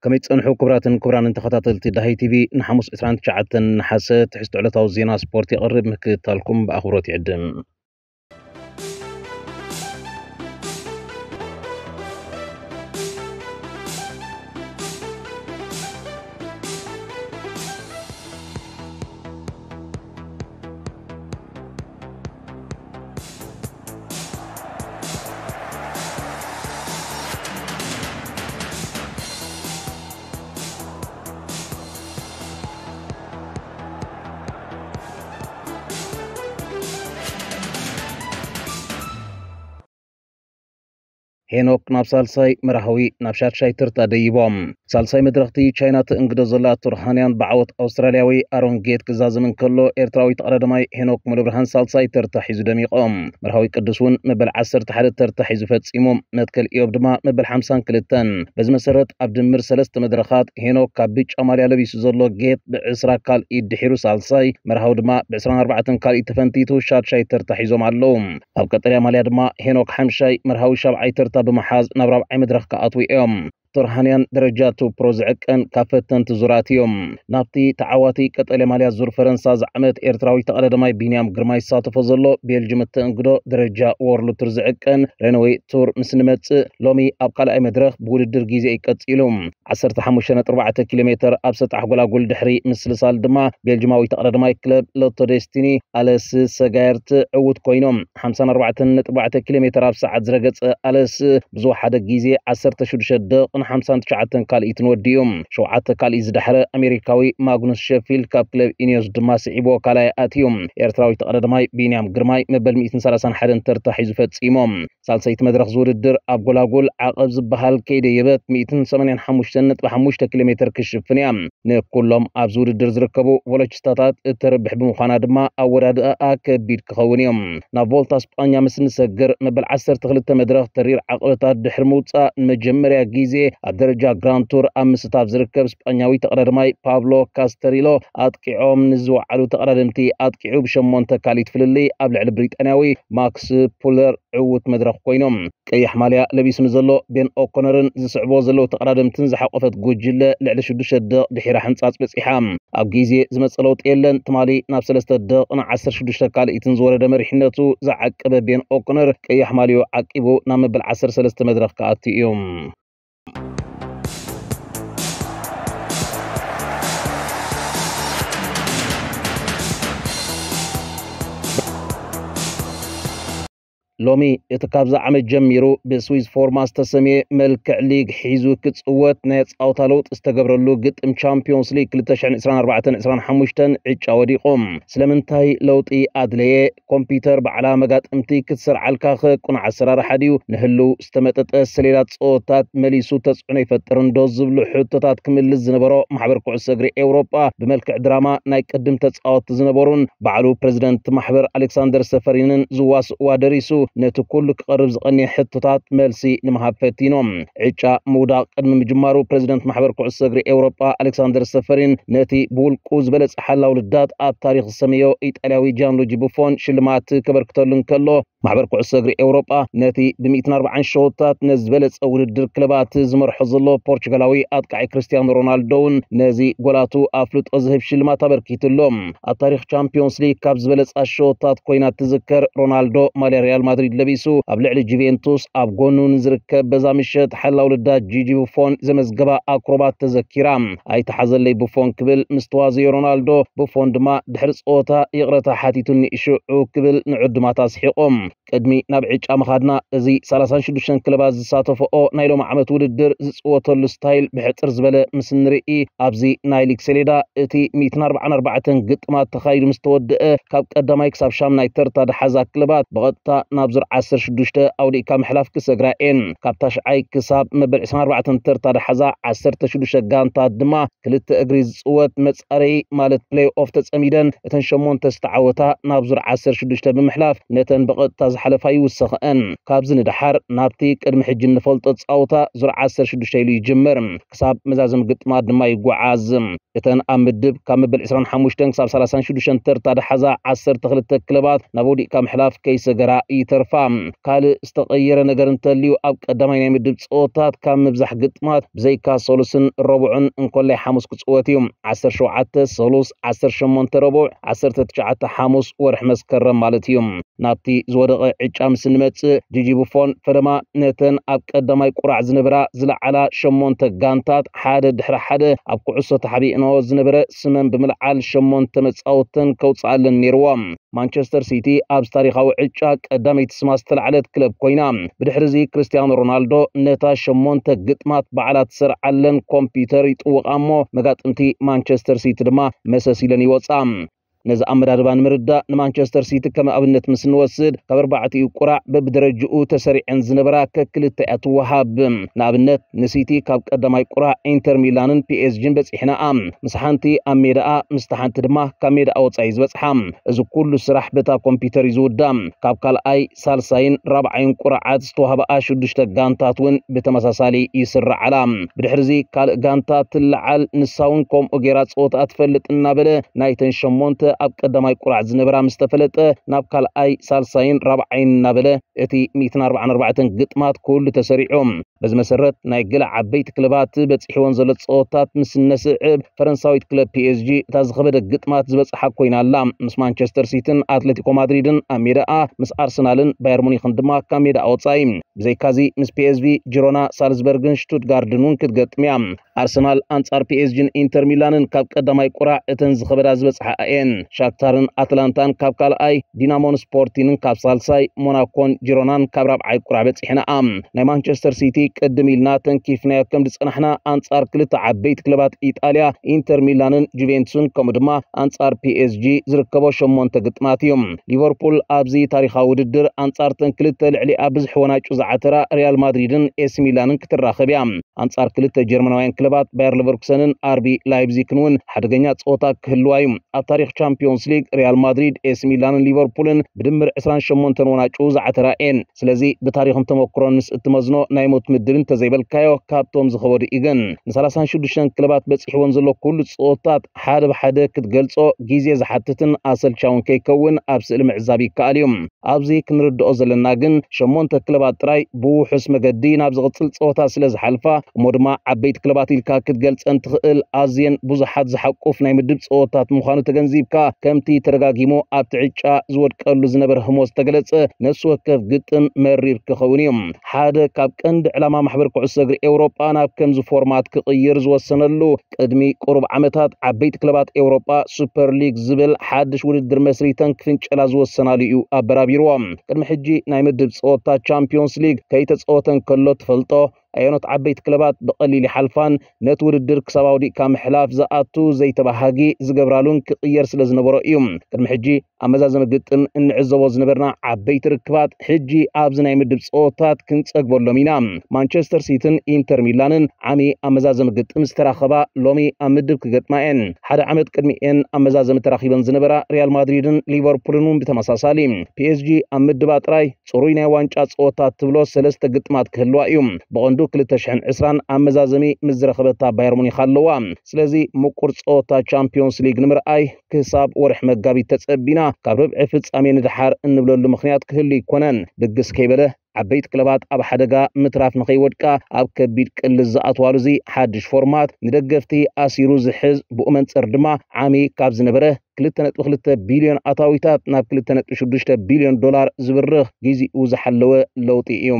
ከመይ ጸንሑ ክቡራትን ክቡራንን ተኸታተልቲ ዳሃይ ቲቪ? ንሓሙስ ዕስራን ትሽዓተን ነሓሰ ትሕዝቶ ዕለታዊ ዜና ስፖርት የቕርብ፣ ምክትታልኩም ብኣኽብሮት ይዕድም። ሄኖክ ናብ ሳልሳይ መርሃዊ ናብ ሻድሻይ ተርታ ደይቦም። ሳልሳይ መድረኽቲ ቻይና ትእንግዶ ዘላ ቱርሃንያን ብዓወት ኣውስትራልያዊ ኣሮን ጌት ክዛዘም እንከሎ፣ ኤርትራዊ ተቐዳዳማይ ሄኖክ ሙሉብርሃን ሳልሳይ ተርታ ሒዙ ደሚቖም። መርሃዊ ቅዱስ እውን መበል ዓሰርተ ሓደ ተርታ ሒዙ ፈጺሙ። መትከል ኢዮብ ድማ መበል ሓምሳን ክልተን። በዚ መሰረት ኣብ ድምር ሰለስተ መድረኻት ሄኖክ ካብ ብጫ ማልያ ለቢሱ ዘሎ ጌት ብዕስራ ካልኢት ድሒሩ ሳልሳይ፣ መርሃዊ ድማ ብዕስራን ኣርባዕተን ካልኢት ተፈንቲቱ ሻድሻይ ተርታ ሒዞም ኣለዉ። ኣብ ቀጠልያ ማልያ ድማ ሄኖክ ሓምሻይ፣ መርሃዊ ሻብዓይ ተርታ ብምሓዝ ናብ ራብዓይ መድረኽ ክኣትዉ እዮም። ቶርሃንያን ደረጃ ቱ ፕሮ ዝዕቀን ካብ ፈተንቲ ዙራት እዮም። ናብቲ ተዓዋቲ ቀጠልያ ማልያ ዙር ፈረንሳ ዝዓመት ኤርትራዊ ተቐዳዳማይ ቢንያም ግርማይ ዝሳተፎ ዘሎ ቤልጅም እተእንግዶ ደረጃ ዎርልድ ቱር ዝዕቀን ሬኖዌ ቱር ምስ ንመጽእ፣ ሎሚ ኣብ ካልኣይ መድረኽ ብውድድር ግዜ እዩ ቀጺሉ። ዓሰርተ ሓሙሽተ ነጥቢ ኣርባዕተ ኪሎ ሜተር ኣብ ሰጣሕ ጎላጉል ድሕሪ ምስልሳል ድማ ቤልጅማዊ ተቐዳዳማይ ክለብ ሎቶ ዴስቲኒ ኣለስ ሰጋየርት ዕዉት ኮይኖም። ሓምሳን ኣርባዕተን ነጥቢ ኣርባዕተ ኪሎ ሜተር ኣብ ሰዓት ዝረገጸ ኣለስ ብዝወሓደ ግዜ ዓሰርተ ሽዱሽተ ደቕን ሓምሳን ትሽዓተን ካልኢትን ወዲኡ። ሸውዓተ ካልኢት ዝደሕረ ኣሜሪካዊ ማግኑስ ሸፊልድ ካብ ክለብ ኢኒዮስ ድማ ስዒቦ ካልኣይ ኣትዩ። ኤርትራዊ ተቐዳዳማይ ቢንያም ግርማይ መበል ሚእትን ሰላሳን ሓደን ተርታ ሒዙ ፈጺሞም። ሳልሰይቲ መድረኽ ዝውድድር ኣብ ጎላጉል ዓቐብ ዝበሃል ከይደየበት ሚእትን ሰማንያን ሓሙሽተን ነጥቢ ሓሙሽተ ኪሎ ሜተር ክሽፍን እያ። ንኩሎም ኣብዚ ውድድር ዝርከቡ ቮሎችስታታት እተርብሕ ብምዃና ድማ ኣወዳድኣኣ ከቢድ ክኸውን እዩ። ናብ ቮልታ ስጳኛ ምስ ንሰግር መበል ዓሰርተ ክልተ መድረኽ ተሪር ዓቐበታት ድሕሪ ምውጻእ ንመጀመርያ ግዜ ኣብ ደረጃ ግራንድ ቱር ኣብ ምስታፍ ዝርከብ ስጳኛዊ ተቐዳዳማይ ፓብሎ ካስተሪሎ ኣጥቂዖም ንዝወዓሉ ተቐዳደምቲ ኣጥቂዑ ብሸሞንተ ካልኢት ፍልልይ ኣብ ልዕሊ ብሪጣንያዊ ማክስ ፑለር ዕዉት መድረኽ ኮይኖም። ቀይሕ ማልያ ለቢሱ ንዘሎ ቤን ኦኮነርን ዝስዕቦ ዘለዉ ተቐዳደምትን ዝሓቆፈት ጉጅለ ልዕሊ ሽዱሽተ ደቕ ድሒራ ሕንጻጽ በጺሓ። ኣብ ግዜ ዝመጸ ለውጢ የለን። ትማሊ ናብ ሰለስተ ደቕን ዓሰርተ ሽዱሽተ ካልኢትን ዝወረደ መሪሕነቱ ዝዓቀበ ቤን ኦኮነር ቀይሕ ማልዮ ዓቂቡ ናብ መበል ዓሰርተ ሰለስተ መድረኽ ክኣቱ እዩ። ሎሚ እቲ ካብዚ ዓመት ጀሚሩ ብስዊዝ ፎርማ ዝተሰምየ መልክዕ ሊግ ሒዙ ክጽወት ናይ ጻውታ ለውጢ ዝተገብረሉ ግጥም ቻምፒዮንስ ሊግ ክልተ ሽሕን ዕስራን ኣርባዕተን ዕስራን ሓሙሽተን ዕጫ ወዲቑ። ስለምንታይ ለውጢ ኣድለየ? ኮምፒውተር ባዕላ መጋጥምቲ ክትሰርዓልካ ክቁኑዕ ኣሰራርሓ ድዩ? ንህልው ዝተመጠጠ ሰሌዳ ጸወታት መሊሱ ተጽዕኖ ይፈጥር እንዶ ዝብሉ ሕቶታት ክምልስ ዝነበሮ ማሕበር ኩዕሶ እግሪ ኤውሮጳ ብመልክዕ ድራማ ናይ ቅድም ተጻወትቲ ዝነበሩን ባዕሉ ፕሬዝደንት ማሕበር ኣሌክሳንደር ሰፈሪንን ዝዋስእዋ ደሪሱ ነቲ ኩሉ ክቐርብ ዝቐንየ ሕቶታት መልሲ ንምሃብ ፈቲኖም። ዕጫ ምውዳቕ ቅድሚ ምጅማሩ ፕሬዝደንት ማሕበር ኩዕሶ እግሪ ኤውሮጳ ኣሌክሳንደር ሰፈሪን ነቲ ብውልቁ ዝበለጸ ሓላው ልዳት ኣብ ታሪኽ ዝሰመዮ ኢጣልያዊ ጃንሉጂ ቡፎን ሽልማት ከበርክተሉ እንከሎ፣ ማሕበር ኩዕሶ እግሪ ኤውሮጳ ነቲ ብሚእትን ኣርባዓን ሸወታት ነዚ ዝበለጸ ውድድር ክለባት ዝመርሖ ዘሎ ፖርቹጋላዊ ኣጥቃዒ ክርስቲያኖ ሮናልዶ እውን ነዚ ጎላቱ ኣፍልጦ ዝህብ ሽልማት ኣበርኪትሎም። ኣብ ታሪኽ ቻምፒዮንስ ሊግ ካብ ዝበለጻ ሸወታት ኮይና እትዝከር ሮናልዶ ማልያ ሪያል ማድሪድ ለቢሱ ኣብ ልዕሊ ጁቬንቱስ ኣብ ጎኑ ንዝርከብ በዛ ምሸት ሓላው ልዳት ጂጂ ቡፎን ዘመዝገባ ኣክሮባት ተዘኪራ። ኣይተሓዘለይ ቡፎን ክብል ምስ ተዋዘዮ ሮናልዶ፣ ቡፎን ድማ ድሕሪ ጸወታ ይቕረታ ሓቲቱኒ ሽዑ ክብል ንዕዱማት ኣስሒቖም። ቅድሚ ናብ ዕጫ ምኻድና፣ እዚ ሰላሳን ሽዱሽተን ክለባት ዝሳተፈኦ ናይ ሎሚ ዓመት ውድድር ዝጽወተሉ ስታይል ብሕጽር ዝበለ ምስ ንርኢ፣ ኣብዚ ናይ ሊግ ሰሌዳ እቲ ሚእትን ኣርባዓን ኣርባዕተን ግጥማት ተኻይዱ ምስ ተወደአ፣ ካብ ቀዳማይ ክሳብ ሻምናይ ተርታ ድሓዛ ክለባት ብቐጥታ ናብ ዙር ዓሰርተ ሽዱሽተ ኣውዲእካ ምሕላፍ ክሰግራ እየን። ካብ ታሽዓይ ክሳብ መበል ዕስራን ኣርባዕተን ተርታ ድሓዛ ዓሰርተ ሽዱሽተ ጋንታት ድማ ክልተ እግሪ ዝጽወት መጻረዪ ማለት ፕሌይ ኦፍ ተጸሚደን እተን ሸሞንተ ዝተዓወታ ናብ ዙር ዓሰርተ ሽዱሽተ ብምሕላፍ ነተን ብቐጥታ ዝሓለፋ ይውሰኸአን። ካብዚ ንደሓር ናብቲ ቅድሚ ሕጂ እንፈልጦ ጻውታ ዙር ዓሰርተ ሽዱሽተ ኢሉ ይጅምር። ክሳብ መዛዘም ግጥማት ድማ ይጓዓዝ። እተን ኣብ ምድብ ካብ መበል ዕስራን ሓሙሽተን ክሳብ ሰላሳን ሽዱሽተን ተርታ ድሓዛ ዓሰርተ ክልተ ክለባት ናብ ውዲቕካ ምሕላፍ ከይሰገራ ይተ ተርፋ። ካልእ ዝተቐየረ ነገር እንተልዩ፣ ኣብ ቀዳማይ ናይ ምድብ ጸወታት ካብ ምብዛሕ ግጥማት ብዘይካ ሰሉስን ረቡዕን እንኮላይ ሓሙስ ክጽወት እዩ። ዓሰርተ ሸውዓተ ሰሉስ፣ ዓሰርተ ሸሞንተ ረቡዕ፣ ዓሰርተ ትሽዓተ ሓሙስ ወርሒ መስከረም ማለት እዩ። ናብቲ ዝወደቐ ዕጫ ምስ እንመጽእ፣ ጂጂ ቡፎን ፈለማ ነተን ኣብ ቀዳማይ ቁራዕ ዝነበራ ዝለዓላ ሸሞንተ ጋንታት ሓደ ድሕሪ ሓደ ኣብ ኩዕሶ ተሓቢእንኦ ዝነበረ ስመን ብምልዓል ሸሞንተ መጻወተን ከውጽኣለን ነይርዎ። ማንቸስተር ሲቲ ኣብዚ ታሪኻዊ ዕጫ ቀዳመይቲ ስማ ዝተላዕለት ክለብ ኮይና። ብድሕርዚ ክርስቲያኖ ሮናልዶ ነታ ሸሞንተ ግጥማት ባዕላ ትሰርዓለን ኮምፒውተር ይጥውቓ እሞ መጋጥምቲ ማንቸስተር ሲቲ ድማ መሰስ ኢለን ይወጻ። ነዚ ኣመዳድባ ንምርዳእ ንማንቸስተር ሲቲ ከም ኣብነት ምስ እንወስድ ካብ ኣርባዕቲኡ ቁራዕ በብደረጅኡ ተሰሪዐን ዝነበራ ከክልተ እያ ትወሃብ። ንኣብነት ንሲቲ ካብ ቀዳማይ ቁራዕ ኢንተር ሚላንን ፒኤስጂን በጺሕናኣ። ምስ ሓንቲ ኣብ ሜዳኣ ምስቲ ሓንቲ ድማ ካብ ሜዳኣ ወጻኢ ዝበጽሓ። እዚ ኩሉ ስራሕ በታ ኮምፒውተር እዩ ዝውዳ። ካብ ካልኣይ ሳልሳይን ራብዓይን ቁርዓት ዝተዋህበኣ ሽዱሽተ ጋንታት እውን ብተመሳሳሊ ይስርዓላ። ብድሕርዚ ካልእ ጋንታ ትለዓል፣ ንሳ እውን ከምኡ ጌራ ጸወታ ትፈልጥ እናበለ ናይተን ሸሞንተ ኣብ ቀዳማይ ቁራዕ ዝነበራ ምስ ተፈለጠ ናብ ካልኣይ ሳልሳይን ራብዓይን እናበለ እቲ ሚእትን ኣርባዓን ኣርባዕተን ግጥማት ኩሉ ተሰሪዑ። በዚ መሰረት ናይ ገለ ዓበይቲ ክለባት በጺሕወን ዘሎ ጸወታት ምስ እነስዕብ፣ ፈረንሳዊት ክለብ ፒኤስጂ እታ ዝኸበደ ግጥማት ዝበጽሓ ኮይና ኣላ። ምስ ማንቸስተር ሲቲን ኣትሌቲኮ ማድሪድን ኣብ ሜዳኣ፣ ምስ ኣርሰናልን ባየር ሙኒክን ድማ ካብ ሜዳኣ ወጻኢ። ብዘይካዚ ምስ ፒኤስቪ፣ ጂሮና፣ ሳልዝበርግን ሽቱትጋርድን እውን ክትገጥም እያ። ኣርሰናል ኣንጻር ፒኤስጂን ኢንተር ሚላንን ካብ ቀዳማይ ቁራዕ እተን ዝኸበዳ ዝበጽሓ እየን። ሻክታርን ኣትላንታን ካብ ካልኣይ፣ ዲናሞን ስፖርቲንን ካብ ሳልሳይ፣ ሞናኮን ጂሮናን ካብ ራብዓይ ቁራዕ በጺሕንኣ። ናይ ማንቸስተር ሲቲ ቅድም ኢልና ተንኪፍናዮ ከም ዝጸናሕና ኣንጻር ክልተ ዓበይቲ ክለባት ኢጣልያ ኢንተር ሚላንን ጁቬንቱስን ከምኡ ድማ ኣንጻር ፒኤስጂ ዝርከቦ ሸሞንተ ግጥማት እዩ። ሊቨርፑል ኣብዚ ታሪኻዊ ውድድር ኣንጻርተን ክልተ ልዕሊኣ ብዙሕ ወናጩ ዝዓተራ ሪያል ማድሪድን ኤሲ ሚላንን ክትራኸብ እያ። ኣንጻር ክልተ ጀርመናውያን ክለባት ባየር ሌቨርኩሰንን ኣርቢ ላይፕዚግን እውን ሓደገኛ ጸወታ ክህልዋ እዩ። ኣብ ታሪኽ ቻምፒዮንስ ሊግ ሪያል ማድሪድ፣ ኤሲ ሚላንን ሊቨርፑልን ብድምር ዕስራን ሸሞንተን ወናጩ ዝዓተራ እየን። ስለዚ ብታሪኽን ተመክሮን ምስ እትመዝኖ ናይ ሞት ምድብ እንተዘይበልካዮ ካብቶም ዝኸበዱ እዩ። ግን ንሰላሳን ሽዱሽተን ክለባት በጺሕወን ዘሎ ኩሉ ጸወታት ሓደ ብሓደ ክትገልጾ ግዜ ዝሓትትን ኣሰልቻውን ከይከውን ኣብ ስእሊ ምዕዛብ ይከኣል እዩ። ኣብዚ ክንርድኦ ዘለና ግን ሸሞንተ ክለባት ጥራይ ብውሑስ መገዲ ናብ ዝቕጽል ጸወታ ስለ ዝሓልፋ እሞ ድማ ዓበይቲ ክለባት ኢልካ ክትገልጸን ትኽእል ኣዝየን ብዙሓት ዝሓቁፍ ናይ ምድብ ጸወታት ምዃኑ ተገንዚብካ ከምቲ ተደጋጊሙ ኣብቲ ዕጫ ዝወድቀሉ ዝነበረ ህሞት ዝተገለጸ ነፍሲ ወከፍ ግጥም መሪር ክኸውን እዩ። ሓደ ካብ ቀንዲ ዕላማ ማሕበር ኩዕሶ እግሪ ኤውሮጳ ናብ ከምዚ ፎርማት ክቕይር ዝወሰነሉ ቅድሚ ቁሩብ ዓመታት ዓበይቲ ክለባት ኤውሮጳ ሱፐር ሊግ ዝብል ሓድሽ ውድድር መስሪተን ክፍንጨላ ዝወሰናሉ እዩ ኣበራቢርዎ። ቅድሚ ሕጂ ናይ ምድብ ጸወታ ቻምፒዮንስ ሊግ ከይተጸወተ እንከሎ ትፈልጦ ኣየኖት ዓበይቲ ክለባት ብቐሊል ይሓልፋን ነቲ ውድድር ክሳብ ኣውዲቕካ ምሕላፍ ዝኣቱ ዘይተባሃጊ ዝገብራሉን ክቕየር ስለ ዝነበሮ እዩ። ቅድሚ ሕጂ ኣብ መዛዘሚ ግጥም እንዕዘቦ ዝነበርና ዓበይቲ ርክባት ሕጂ ኣብዚ ናይ ምድብ ጸወታት ክንጸግበሎም ኢና። ማንቸስተር ሲቲን ኢንተር ሚላንን ዓሚ ኣብ መዛዘሚ ግጥም ዝተራኸባ ሎሚ ኣብ ምድብ ክገጥማ እየን። ሓደ ዓመት ቅድሚኤን ኣብ መዛዘሚ ተራኺበን ዝነበራ ሪያል ማድሪድን ሊቨርፑልን እውን ብተመሳሳሊ። ፒኤስጂ ኣብ ምድባ ጥራይ ጽሩይ ናይ ዋንጫ ጸወታ ትብሎ ሰለስተ ግጥማት ክህልዋ እዩ። ብቐንዱ ክልተ ሽሕን ዕስራን ኣብ መዛዘሚ ምስ ዝረኸበታ ባየር ሙኒክ ኣለዋ። ስለዚ ምቁር ጸወታ ቻምፒዮንስ ሊግ ንምርኣይ ክሳብ ወርሒ መጋቢት ተጸቢና ካብ ርብዒ ፍጻሜ ንደሓር እንብለሉ ምኽንያት ክህሉ ኣይኮነን። ድግስ ከይበለ ዓበይቲ ክለባት ኣብ ሓደጋ ምትራፍ ንኸይወድቃ ኣብ ከቢድ ቅልስ ዝኣትዋሉ እዚ ሓድሽ ፎርማት ንደገፍቲ ኣሲሩ ዝሕዝ ብኡ መንጽር ድማ ዓሚ ካብ ዝነበረ ክልተ ነጥቢ ክልተ ቢልዮን ኣታዊታት ናብ ክልተ ነጥቢ ሽዱሽተ ቢልዮን ዶላር ዝብርኽ ጊዜኡ ዝሓለወ ለውጢ እዩ።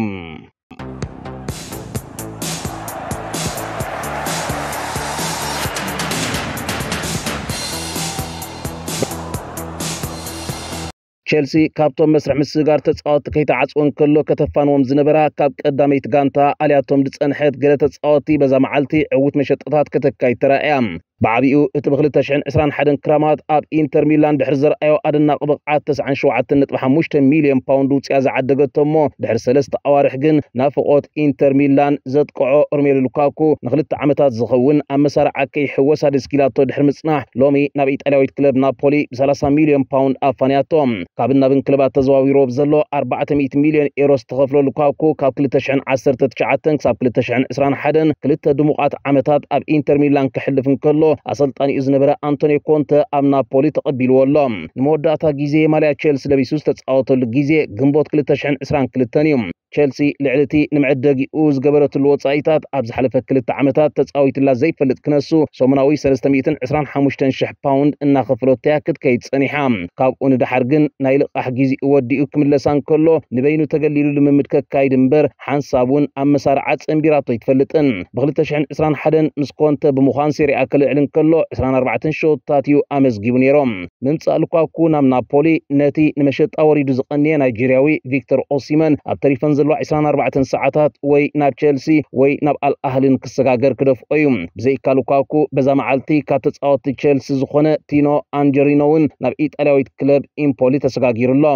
ቸልሲ ካብቶም መስርሕ ምስግጋር ተጻወትቲ ከይተዓጽወ እንከሎ ከተፋንዎም ዝነበራ ካብ ቀዳመይቲ ጋንታ ኣልያቶም ዝጸንሐት ገለ ተጻወትቲ በዛ መዓልቲ ዕዉት መሸጣታት ከተካይድ ተራእያ። ብዓቢኡ እቲ ብ ክልተ ሽሕን ዕስራን ሓደን ክራማት ኣብ ኢንተር ሚላን ድሕሪ ዘርኣዮ ኣደናቂ ብቕዓት ተስዓን ሸውዓተን ነጥቢ ሓሙሽተ ሚልዮን ፓውንድ ውጽያ ዝዓደገቶ እሞ ድሕሪ ሰለስተ ኣዋርሕ ግን ናፍቖት ኢንተር ሚላን ዘጥቅዖ ሮሜሉ ሉካኩ ንክልተ ዓመታት ዝኸውን ኣብ መሳርዓ ከይሕወስ ኣደስኪላቶ ድሕሪ ምጽናሕ ሎሚ ናብ ኢጣልያዊት ክለብ ናፖሊ ብ ሰላሳ ሚልዮን ፓውንድ ኣፋንያቶ። ካብን ናብን ክለባት ተዘዋዊሩ ብዘሎ ኣርባዕተ ሚእቲ ሚልዮን ኤሮ ዝተኸፍሎ ሉካኩ ካብ ክልተ ሽሕን ዓሰርተ ትሽዓተን ክሳብ ክልተ ሽሕን ዕስራን ሓደን ክልተ ድሙቓት ዓመታት ኣብ ኢንተር ሚላን ክሕልፍ እንከሎ ኣሰልጣኒኡ ዝነበረ ኣንቶኒዮ ኮንተ ኣብ ናፖሊ ተቐቢልዎ ኣሎ። ንመወዳእታ ግዜ ማልያ ቸልሲ ለቢሱ ዝተጻወተሉ ግዜ ግንቦት ክልተ ሽሕን ዕስራን ክልተን እዩ። ቸልሲ ልዕሊ እቲ ንመዐደጊኡ ዝገበረትሉ ወጻኢታት ኣብ ዝሓለፈ ክልተ ዓመታት ተጻዊትላ ዘይፈልጥ ክነሱ፣ ሰሙናዊ ሰለስተ ሚእትን ዕስራን ሓሙሽተን ሽሕ ፓውንድ እናኸፈለቶ እያ ክትከይድ ጸኒሓ። ካብኡ ንደሓር ግን ናይ ልቓሕ ግዜኡ ወዲኡ ክምለሳ እንከሎ፣ ንበይኑ ተገሊሉ ልምምድ ከካይድ እምበር፣ ሓንሳብ እውን ኣብ መሳርዓ ጸንቢራቶ ኣይትፈልጥን። ብ ክልተ ሽሕን ዕስራን ሓደን ምስ ኮንተ ብምዃን ሴሪኣ ከልዕል እንከሎ፣ ዕስራን ኣርባዕተን ሸቶታት እዩ ኣመዝጊቡ ነይሩ። ምምጻእ ሉካኩ ናብ ናፖሊ፣ ነቲ ንመሸጣ ወሪዱ ዝቐነየ ናይጄርያዊ ቪክተር ኦሲመን፣ ኣብ ተሪፈን ዘለዋ ዕስራን ኣርባዕተን ሰዓታት ወይ ናብ ቸልሲ ወይ ናብ ኣል ኣህልን ክሰጋገር ክደፍኦ እዩ። ብዘይካ ሉካኩ፣ በዛ መዓልቲ ካብ ተጻወትቲ ቸልሲ ዝኾነ ቲኖ ኣንጀሪኖ እውን ናብ ኢጣልያዊት ክለብ ኢምፖሊ ተሰጋጊሩ ኣሎ።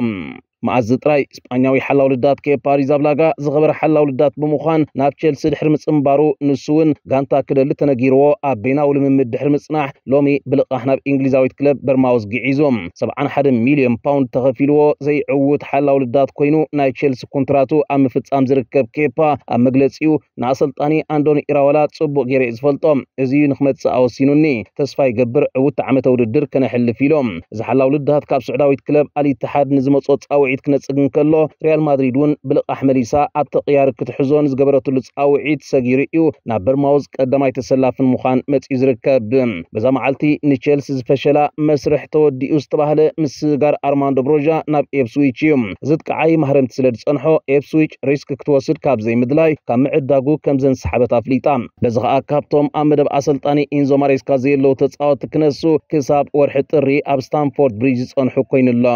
መኣዝ ጥራይ ስጳኛዊ ሓላው ልዳት ኬፓ ኣሪዛብላጋ ዝኸበረ ሓላው ልዳት ብምዃን ናብ ቸልሲ ድሕሪ ምጽንባሩ፣ ንሱ እውን ጋንታ ክደሊ ተነጊርዎ ኣብ በይናዊ ልምምድ ድሕሪ ምጽናሕ፣ ሎሚ ብልቓሕ ናብ እንግሊዛዊት ክለብ በርማውዝ ግዒዙ። ሰብዓን ሓደን ሚልዮን ፓውንድ ተኸፊልዎ ዘይዕውት ሓላው ልዳት ኮይኑ፣ ናይ ቸልሲ ኮንትራቱ ኣብ ምፍጻም ዝርከብ ኬፓ ኣብ መግለጺኡ፣ ንኣሰልጣኒ ኣንዶኒ ኢራወላ ጽቡቕ ገይረ እየ ዝፈልጦ። እዚ እዩ ንክመጽእ ኣወሲኑኒ። ተስፋ ይገብር ዕውት ዓመተ ውድድር ከነሕልፍ ኢሎም። እዚ ሓላው ልዳት ካብ ስዑዳዊት ክለብ ኣል ኢትሓድ ንዝመጾ ጻውዒት ክነጽግ እንከሎ፣ ሪያል ማድሪድ እውን ብልቓሕ መሊሳ ኣብ ተቕያሪ ክትሕዞ ንዝገበረትሉ ጻውዒት ሰጊሩ እዩ ናብ በርማውዝ ቀዳማይ ተሰላፊ ንምዃን መጺኡ ዝርከብ። በዛ መዓልቲ ንቸልሲ ዝፈሸላ መስርሕ ተወዲኡ ዝተባህለ ምስጋር ኣርማንዶ ብሮጃ ናብ ኤፕስዊች እዩ። እዚ ጥቃዓይ ማህረምቲ ስለ ዝጸንሖ፣ ኤፕስዊች ሪስክ ክትወስድ ካብ ዘይምድላይ ካብ ምዕዳጉ ከም ዘንሰሓበት ኣፍሊጣ። በዚ ከኣ ካብቶም ኣብ መደብ ኣሰልጣኒ ኢንዞ ማሬስካ ዘየለዉ ተጻወትቲ ክነሱ ክሳብ ወርሒ ጥሪ ኣብ ስታንፎርድ ብሪጅ ዝጸንሑ ኮይኑ ኣሎ።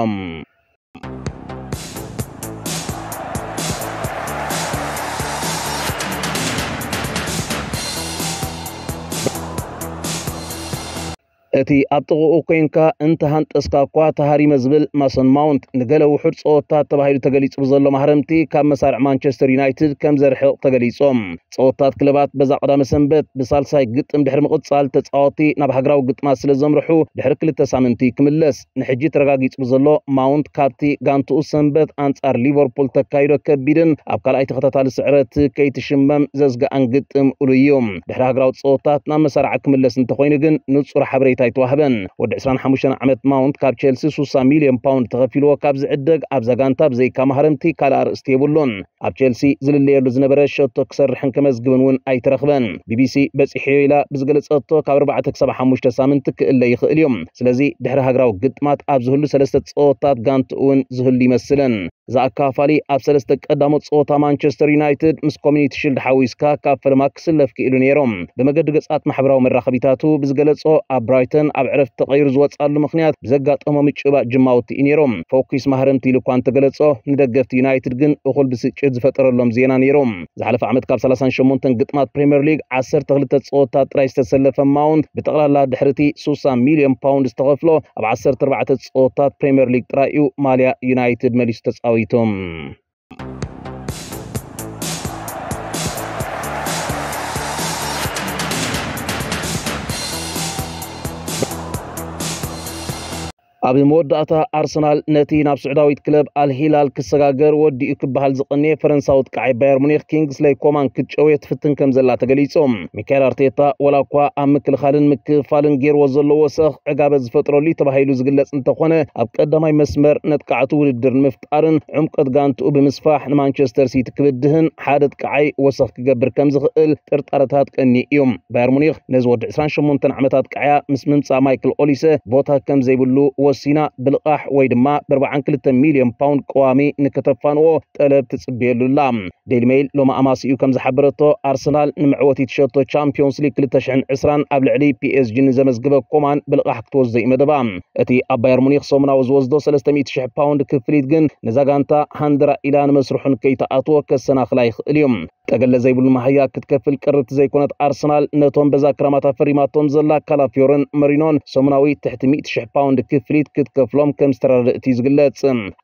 እቲ ኣብ ጥቕኡ ኮይንካ እንተሃንጠስካ እኳ ተሃሪመ ዝብል ማሰን ማውንት፣ ንገለ ውሑድ ጸወታት ተባሂሉ ተገሊጹ ብዘሎ ማህረምቲ ካብ መሳርዕ ማንቸስተር ዩናይትድ ከም ዘርሕቕ ተገሊጹ። ጸወታት ክለባት በዛ ቀዳመ ሰንበት ብሳልሳይ ግጥም ድሕሪ ምቕጻል፣ ተጻወቲ ናብ ሃገራዊ ግጥማት ስለ ዘምርሑ፣ ድሕሪ ክልተ ሳምንቲ ክምለስ። ንሕጂ ተረጋጊጹ ብዘሎ ማውንት፣ ካብቲ ጋንትኡ ሰንበት ኣንጻር ሊቨርፑል ተካይዶ ከቢድን ኣብ ካልኣይ ተኸታታሊ ስዕረት ከይትሽመም ዘስግኣን ግጥም እሉ እዩ። ድሕሪ ሃገራዊ ጸወታት ናብ መሳርዓ ክምለስ እንተኾይኑ ግን ንጹር ሓበሬታ ኣይተዋህበን። ወዲ ዕስራን ሓሙሽተን ዓመት ማውንት ካብ ቸልሲ ሱሳ ሚልዮን ፓውንድ ተኸፊልዎ ካብ ዝዕደግ፣ ኣብዛ ጋንታ ብዘይካ ማህረምቲ ካልእ ኣርእስቲ የብሉን። ኣብ ቸልሲ ዝልለየሉ ዝነበረ ሸቶ ክሰርሕን ከመዝግብን እውን ኣይተረኽበን። ቢቢሲ በጺሐዮ ኢላ ብዝገለጸቶ ካብ ኣርባዕተ ክሳብ ሓሙሽተ ሳምንቲ ክእለ ይኽእል እዩ። ስለዚ ድሕሪ ሃገራዊ ግጥማት ኣብ ዝህሉ ሰለስተ ጸወታት ጋንትኡ እውን ዝህሉ ይመስልን። እዚ ኣካፋሊ ኣብ ሰለስተ ቀዳሞት ጸወታ ማንቸስተር ዩናይትድ ምስ ኮሚኒቲ ሽልድ ሓዊስካ ካብ ፈለማ ክስለፍ ክኢሉ ነይሩ። ብመገዲ ገጻት ማሕበራዊ መራኸቢታቱ ብዝገለጾ፣ ኣብ ብራይተን ኣብ ዕረፍቲ ተቐይሩ ዝወጻሉ ምኽንያት ብዘጋጠሞ ምጭባጥ ጅማውቲ እዩ ነይሩ። ፎኪስ ማህረምቲ ኢሉ እኳ እንተገለጾ፣ ንደገፍቲ ዩናይትድ ግን እኹል ብስጭት ዝፈጠረሎም ዜና ነይሩ። ዝሓለፈ ዓመት ካብ ሰላሳን ሸሞንተን ግጥማት ፕሪምየር ሊግ ዓሰርተ ክልተ ጸወታት ጥራይ ዝተሰለፈ ማውንት፣ ብጠቕላላ ድሕሪ እቲ ሱሳ ሚልዮን ፓውንድ ዝተኸፍሎ ኣብ ዓሰርተ ኣርባዕተ ጸወታት ፕሪምየር ሊግ ጥራይ እዩ ማልያ ዩናይትድ መሊሱ ተጻዊቱ። ኣብ መወዳእታ፣ ኣርሰናል ነቲ ናብ ስዑዳዊት ክለብ ኣልሂላል ክሰጋገር ወዲኡ ክበሃል ዝቐነየ ፈረንሳዊ ጥቃዓይ ባየር ሙኒክ ኪንግስለይ ኮማን ክትጨውዮ ትፍትን ከም ዘላ ተገሊጹ። ሚካኤል ኣርቴታ፣ ወላ እኳ ኣብ ምክልኻልን ምክፍፋልን ገይርዎ ዘሎ ወሰኽ ዕጋበት ዝፈጥረሉ እዩ ተባሂሉ ዝግለጽ እንተኾነ፣ ኣብ ቀዳማይ መስመር ነጥቃዕቱ ውድድር ንምፍጣርን ዕምቆት ጋንትኡ ብምስፋሕ ንማንቸስተር ሲቲ ክብድህን ሓደ ጥቃዓይ ወሰኽ ክገብር ከም ዝኽእል ጥርጣረታት ቀኒ እዩ። ባየር ሙኒክ ነዚ ወዲ ዕስራን ሸሞንተን ዓመታት ቃዕያ ምስ ምምጻእ ማይክል ኦሊሰ ቦታ ከም ዘይብሉ ወሲና፣ ብልቓሕ ወይ ድማ ብ ኣርባዓን ክልተን ሚልዮን ፓውንድ ቀዋሚ ንክተፋንዎ ጠለብ ትጽበየሉ ኣላ። ዴይሊ ሜይል ሎሚ ኣማሲኡ ከም ዝሓበረቶ፣ ኣርሰናል ንመዕወቲት ሸቶ ቻምፒዮንስ ሊግ ክልተ ሽሕን ዕስራን ኣብ ልዕሊ ፒኤስጂ ንዘመዝግበ ኮማን ብልቓሕ ክትወስዶ እዩ መደባ። እቲ ኣብ ባየር ሙኒክ ሰሙናዊ ዝወስዶ ሰለስተ ሚእቲ ሽሕ ፓውንድ ክፍሊት ግን ነዛ ጋንታ ሃንደራ ኢላ ንመስርሑ ንከይትኣትዎ ከሰናኽላ ይኽእል እዩ። ጠገለ ዘይብሉ መሃያ ክትከፍል ቅርብቲ ዘይኮነት ኣርሰናል፣ ነቶም በዛ ክራማት ኣፈሪማቶም ዘላ ካላፊዮርን መሪኖን ሰሙናዊ ትሕቲ ሚእቲ ሽሕ ፓውንድ ክፍሊት ክትከፍሎም ከም ዝተረድእት እዩ ዝግለጽ።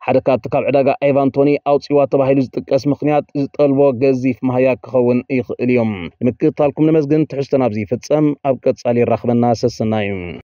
ሓደ ካብቲ ካብ ዕዳጋ ኤቫን ቶኒ ኣውጺዋ ተባሂሉ ዝጥቀስ ምኽንያት፣ ዝጠልቦ ገዚፍ መሃያ ክኸውን ይኽእል እዩ። ንምክትታልኩም ነመስግን። ትሕዝቶና ኣብዚ ይፍጸም። ኣብ ቀጻሊ የራኽበና። ሰሰናዩ።